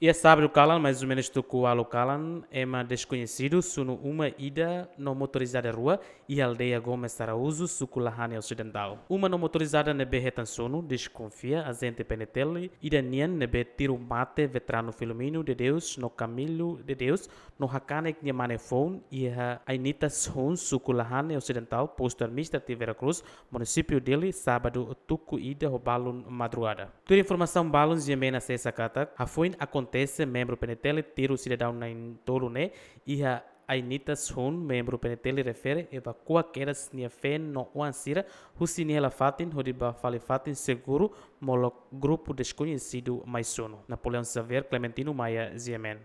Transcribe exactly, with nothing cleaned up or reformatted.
Iha sábadu kalan, mais ou menus tuku ualu kalan, ema deskoñesidu sunu uma ida no motorizada rua iha aldeia Gomes Araújo, suku Lahane Osidentál. Uma no motorizada ne'ebé hetan sunu deskonfia ajente P N T L ida nian ne'ebé tiru mate veteranu Filomeno de Deus no Camilo de Deus no hakanek nia mane foun iha Ainitas Hun, suku Lahane Osidentál, postu administrativu Vera Cruz, munisípiu Dili, sábadu tuku ida ho balun madrugada. Tuir informasaun balun GMN asesa katak, hafoin akontese membru P N T L tiru sidadaun na'in-tolu ne'e iha Ainitas Hun, membru P N T L refere evakua kedas nia feen no oan sira husi nia hela fatin hodi ba fali fatin seguru, molok grupu deskoñesidu mai sunu. Napoleão Xavier, Clementino Maia, GMN.